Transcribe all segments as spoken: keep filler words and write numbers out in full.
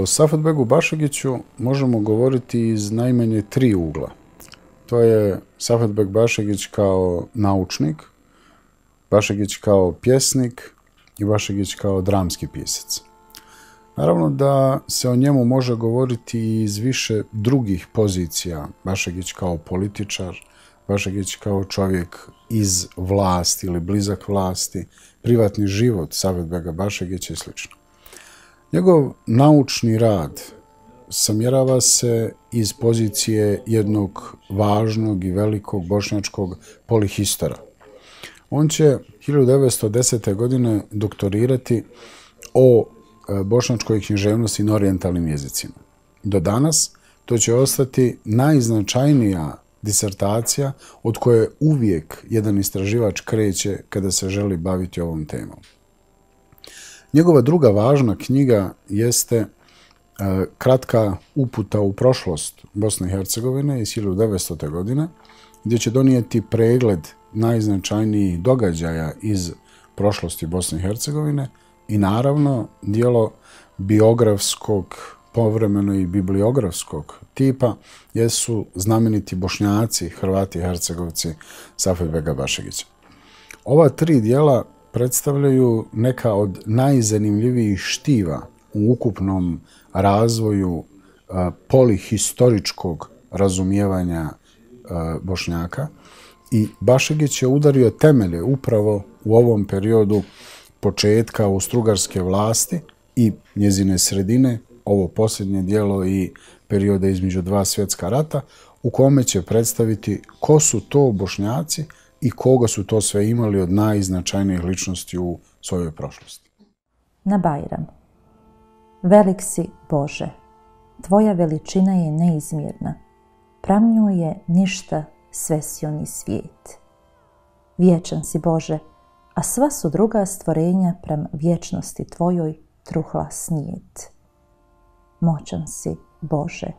O Safetbegu Bašegiću možemo govoriti iz najmanje tri ugla. To je Safetbeg Bašegić kao naučnik, Bašegić kao pjesnik i Bašegić kao dramski pisac. Naravno da se o njemu može govoriti iz više drugih pozicija. Bašegić kao političar, Bašegić kao čovjek iz vlasti ili blizak vlasti, privatni život Safetbega Bašegića i sl. Njegov naučni rad samjerava se iz pozicije jednog važnog i velikog bošnjačkog polihistora. On će hiljadu devetsto desete. godine doktorirati o bošnjačkoj književnosti na orijentalnim jezicima. Do danas to će ostati najznačajnija disertacija od koje uvijek jedan istraživač kreće kada se želi baviti ovom temom. Njegova druga važna knjiga jeste kratka uputa u prošlost Bosne i Hercegovine iz hiljadu devetstote. godine, gdje će donijeti pregled najznačajnijih događaja iz prošlosti Bosne i Hercegovine i naravno dijelo biografskog, povremeno i bibliografskog tipa jesu znameniti Bošnjaci, Hrvati i Hercegovci Safetbega Bašegića. Ova tri dijela predstavljaju neka od najzanimljivijih štiva u ukupnom razvoju polihistoričkog razumijevanja Bošnjaka i Bašegić je udario temelje upravo u ovom periodu početka austrougarske vlasti i njezine sredine, ovo posljednje dijelo i perioda između dva svjetska rata, u kome će predstaviti ko su to Bošnjaci i koga su to sve imali od najznačajnijih ličnosti u svojoj prošlosti. Na Bajram. Velik si, Bože, tvoja veličina je neizmjerna, pram njoj je ništa svesioni svijet. Vječan si, Bože, a sva su druga stvorenja pram vječnosti tvojoj truhla snijet. Moćan si, Bože,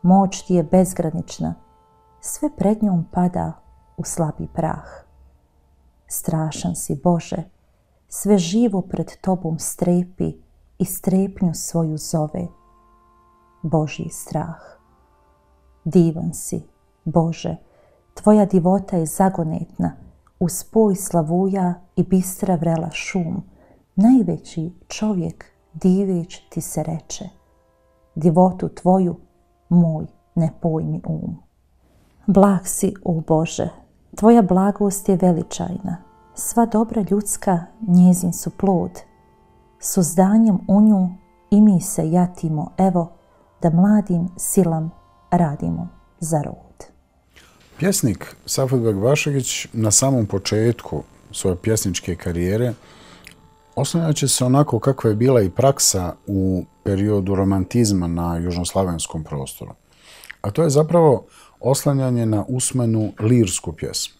moć ti je bezgranična, sve pred njom pada u slabi prah. Strašan si, Bože, sve živo pred tobom strepi i strepnju svoju zove. Božji strah. Divan si, Bože, tvoja divota je zagonetna, u spoj slavuja i bistra vrela šum, najveći čovjek diveć ti se reče. Divotu tvoju moj ne pojmi um. Blag si, o Bože, tvoja blagost je veličajna, sva dobra ljudska njezin su plod. Suzdanjem u nju i mi se jatimo, evo, da mladim silam radimo za rod. Pjesnik Safetbeg Bašegić na samom početku svoje pjesničke karijere oslanjat će se onako kakva je bila i praksa u periodu romantizma na južnoslavenskom prostoru. A to je zapravo oslanjanje na usmenu lirsku pjesmu.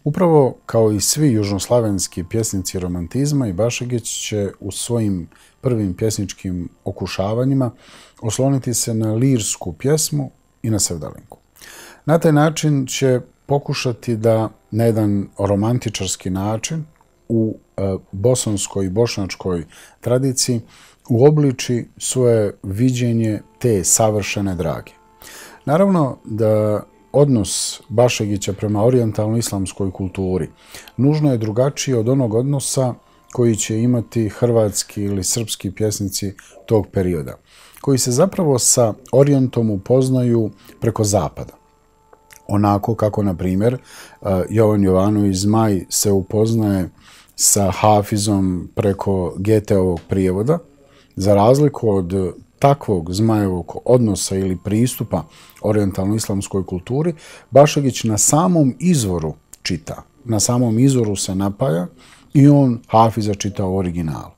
Upravo kao i svi južnoslavenski pjesnici romantizma, i Bašegić će u svojim prvim pjesničkim okušavanjima osloniti se na lirsku pjesmu i na sevdalinku. Na taj način će pokušati da na jedan romantičarski način u bosanskoj i bošnjačkoj tradiciji uobliči svoje viđenje te savršene drage. Naravno da odnos Bašegića prema orijentalno-islamskoj kulturi nužno je drugačiji od onog odnosa koji će imati hrvatski ili srpski pjesnici tog perioda, koji se zapravo sa orijentom upoznaju preko zapada. Onako kako, na primjer, Jovan Jovanović Zmaj se upoznaje sa Hafizom preko Goetheovog prijevoda, za razliku od takvog Zmajevog odnosa ili pristupa orijentalno-islamskoj kulturi, Bašegić na samom izvoru čita, na samom izvoru se napaja i on Hafiza čita u originalu.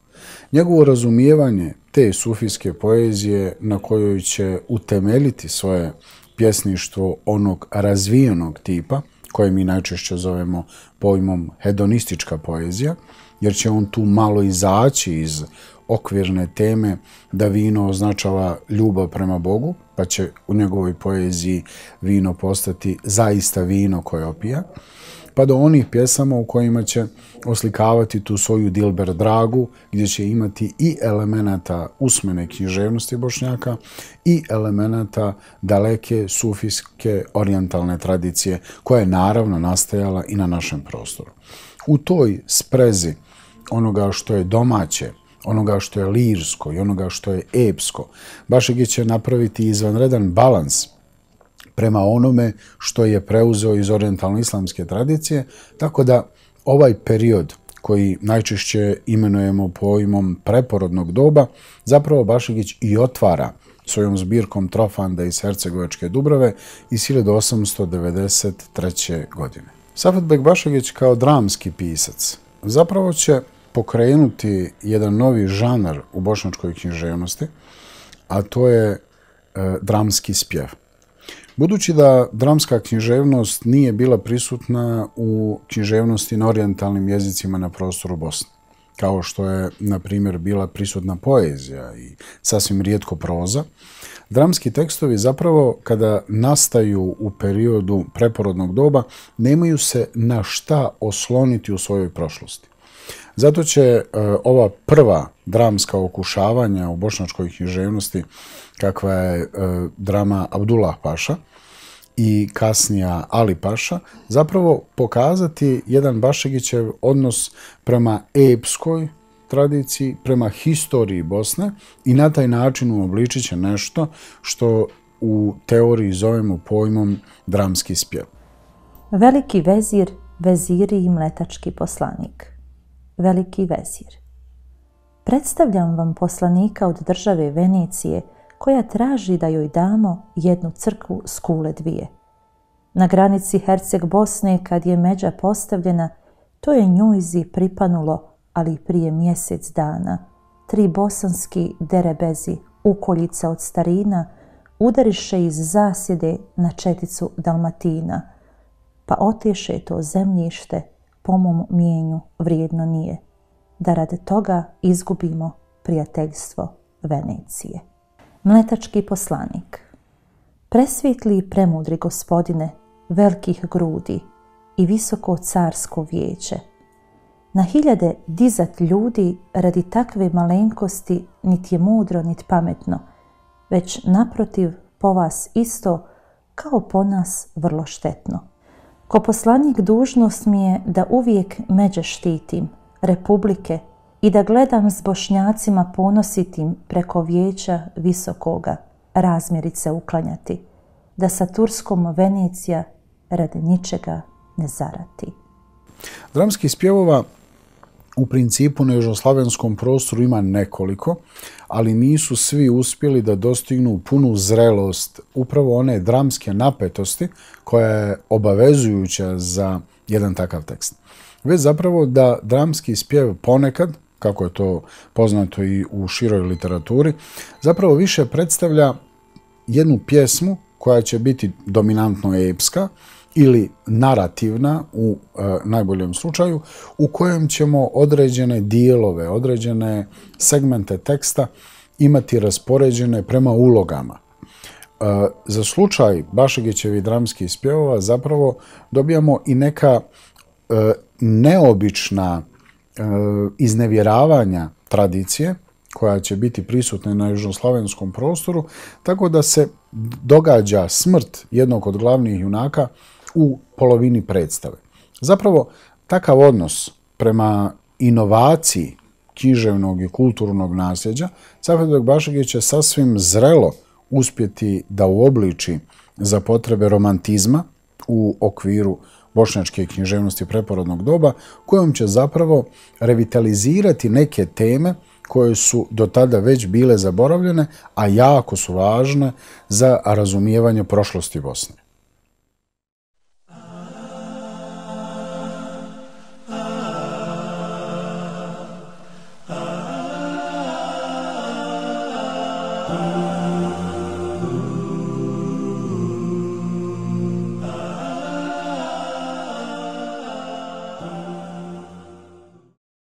Njegovo razumijevanje te sufijske poezije na kojoj će utemeljiti svoje pjesništvo onog razvijenog tipa, koje mi najčešće zovemo pojmom hedonistička poezija, jer će on tu malo izaći iz okvirne teme da vino označava ljubav prema Bogu, pa će u njegovoj poeziji vino postati zaista vino koje opija. pa do onih pjesama u kojima će oslikavati tu svoju Dilber dragu, gdje će imati i elemenata usmene književnosti Bošnjaka i elemenata daleke sufijske orijentalne tradicije, koja je naravno nastajala i na našem prostoru. U toj sprezi onoga što je domaće, onoga što je lirsko i onoga što je epsko, Bašegić će napraviti izvanredan balans prema onome što je preuzeo iz orijentalno-islamske tradicije, tako da ovaj period koji najčešće imenujemo pojmom preporodnog doba, zapravo Bašegić i otvara svojom zbirkom Trofanda iz Hercegovačke Dubrave iz hiljadu osamsto devedeset treće. godine. Safetbek Bašegić kao dramski pisac zapravo će pokrenuti jedan novi žanar u bošnjačkoj književnosti, a to je e, dramski spjev. Budući da dramska književnost nije bila prisutna u književnosti na orijentalnim jezicima na prostoru Bosne, kao što je, na primjer, bila prisutna poezija i sasvim rijetko proza, dramski tekstovi zapravo, kada nastaju u periodu preporodnog doba, nemaju se na šta osloniti u svojoj prošlosti. Zato će e, ova prva dramska okušavanja u bošnjačkoj književnosti, kakva je e, drama Abdullah Paša i kasnija Ali Paša, zapravo pokazati jedan Bašegićev odnos prema epskoj tradiciji, prema historiji Bosne i na taj način uobličit će nešto što u teoriji zovemo pojmom dramski spjev. Veliki vezir, veziri i mletački poslanik. Veliki vezir. Predstavljam vam poslanika od države Venecije, koja traži da joj damo jednu crkvu s kule dvije. Na granici Herceg-Bosne, kad je međa postavljena, to je njujzi pripanulo, ali prije mjesec dana. Tri bosanski derebezi, ukoljica od starina, udariše iz zasjede na četicu Dalmatina, pa oteše to zemljište, po mom mijenju vrijedno nije, da radi toga izgubimo prijateljstvo Venecije. Mletački poslanik. Presvjetli i premudri gospodine, velikih grudi i visoko carsko vijeće, na hiljade dizat ljudi radi takve malenkosti niti je mudro, niti pametno, već naprotiv po vas isto kao po nas vrlo štetno. Ko poslanik dužnost mi je da uvijek međe štitim, republike, i da gledam s Bošnjacima ponositim preko vijeća visokoga razmjerice uklanjati, da sa Turskom Venecija radi ničega ne zarati. Dramskih spjevova u principu na južnoslavenskom prostoru ima nekoliko, ali nisu svi uspjeli da dostignu punu zrelost upravo one dramske napetosti koja je obavezujuća za jedan takav tekst. Već zapravo da dramski spjev ponekad, kako je to poznato i u široj literaturi, zapravo više predstavlja jednu pjesmu koja će biti dominantno epska ili narativna u e, najboljem slučaju, u kojem ćemo određene dijelove, određene segmente teksta imati raspoređene prema ulogama. E, za slučaj Bašegićevih dramskih spjevova zapravo dobijamo i neka e, neobična e, iznevjeravanja tradicije koja će biti prisutna na južnoslavenskom prostoru, tako da se događa smrt jednog od glavnih junaka u polovini predstave. Zapravo, takav odnos prema inovaciji književnog i kulturnog nasljeđa Safetbek Bašegić će sasvim zrelo uspjeti da uobliči za potrebe romantizma u okviru bošnjačke književnosti preporodnog doba, kojom će zapravo revitalizirati neke teme koje su do tada već bile zaboravljene, a jako su važne za razumijevanje prošlosti Bosne.